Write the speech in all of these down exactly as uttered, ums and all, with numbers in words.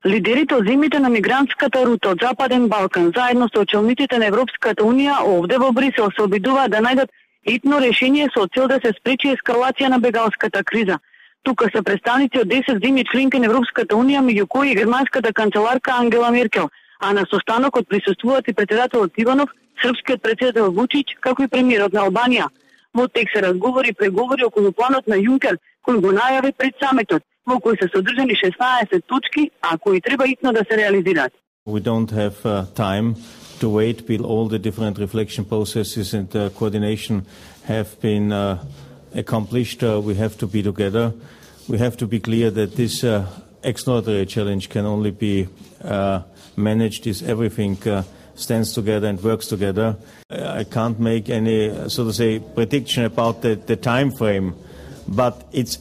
Лидерите од земјите на мигрантската рута од Западен Балкан, заедно со челниците на Европската Унија, овде во Брисел се обидуваат да најдат итно решение со цел да се спречи ескалација на бегалската криза. Тука се представници од десет земји членки на Европската Унија, меѓу кои и германската канцеларка Ангела Меркел, а на состанокот присуствуваат и претседателот Иванов, српскиот претседател Вучич, како и премиерот на Албанија. Во текст се разговори и преговори околу планот на Јункер, кој го најави пред самитот, во кој се содржани шеснаесет точки, а кои треба итно да се реализираат. We don't have uh, time to wait till all the different reflection processes and uh, coordination have been uh, accomplished. Uh, we have to be together. We have to be clear that this uh, extraordinary challenge can only be uh, managed if everything uh, stands together and works together. I can't make any, so to say, prediction about the, the time frame, but it's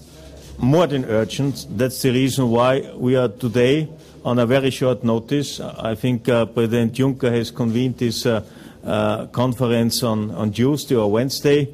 more than urgent. That's the reason why we are today on a very short notice. I think uh, President Juncker has convened this uh, uh, conference on, on Tuesday or Wednesday,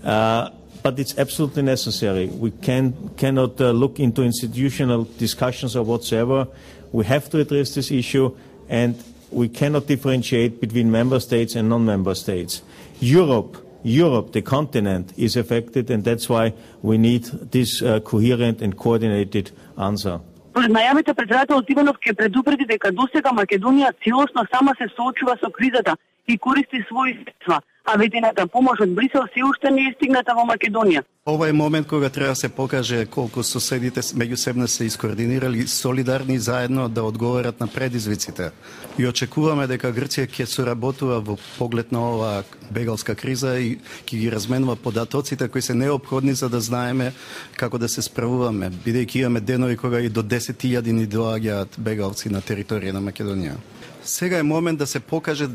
uh, but it's absolutely necessary. We can, cannot uh, look into institutional discussions or whatsoever. We have to address this issue, and we cannot differentiate between member states and non-member states. Europe, Europe, the continent, is affected, and that's why we need this uh, coherent and coordinated answer. Според најавите, претседателот Иванов ќе предупреди дека досега Македонија целосно сама се соочува со кризата и користи своји средства, а ведената помош од Брисел се уште не е стигната во Македонија. Ова е момент кога треба да се покаже колку соседите меѓусебно се искоординирали солидарни заедно да одговорат на предизвиците. И очекуваме дека Грција ќе соработува во поглед на оваа бегалска криза и ќе ги разменува податоците кои се неопходни за да знаеме како да се справуваме, бидејќи имаме денови кога и до десет илјади ни доаѓаат бегалци на територија на Македонија. Сега е момент да се покаже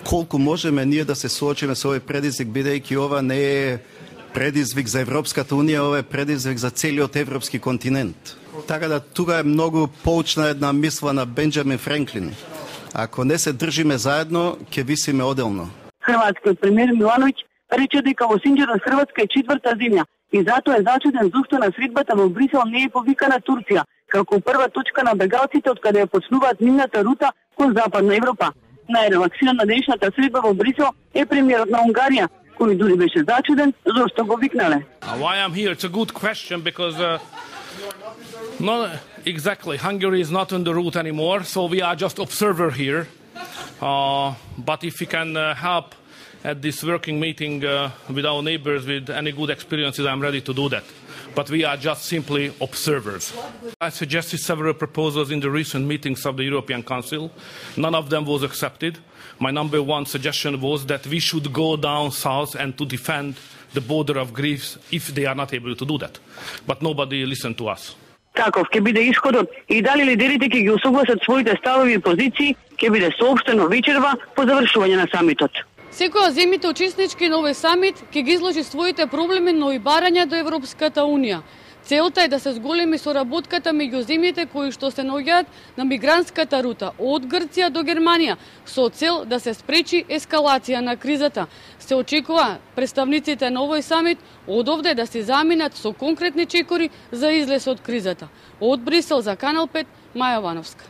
колку можеме ние да се соочиме со овој предизвик, бидејќи ова не е предизвик за Европската Унија, ова е предизвик за целиот европски континент. Така да тука е многу поучна една мисла на Бенџамин Франклин. Ако не се држиме заедно, ќе висиме оделно. Хрватскиот премиер Милановиќ рече дека во Синџерот Хрватска е четврта земја и затоа е зачуден зошто на средбата во Брисел не е повикана Турција, како прва точка на бегалците од каде ја почнуваат нивната рута кон Западна Европа. Најрелаксиран на денешната средба во Брисел е премиерот на Унгарија, кој дури беше зачуден зошто го викнале. Why I'm here? It's a good question because uh, not exactly Hungary is not on the route anymore, so we are just observer here. Uh, but if we can uh, help at this working meeting uh, with our neighbors with any good experiences, I'm ready to do that. But we are just simply observers. I suggested several proposals in the recent meetings of the European Council. None of them was accepted. My number one suggestion was that we should go down south and to defend the border of Greece if they are not able to do that. But nobody listened to us. Каков ќе биде исходот и дали лидерите ќе ги усогласат своите ставови и позиции, ќе биде соопштено вечерва по завршување на самитот. Секоја земјите учеснички на овој самит ќе ги изложи своите проблеми, но и барања до Европската Унија. Целта е да се зголеми соработката меѓу земјите кои што се наоѓаат на мигрантската рута од Грција до Германија со цел да се спречи ескалација на кризата. Се очекува представниците на овој самит од овде да се заминат со конкретни чекори за излез од кризата. Од Брисел за Канал пет, Маја Вановска.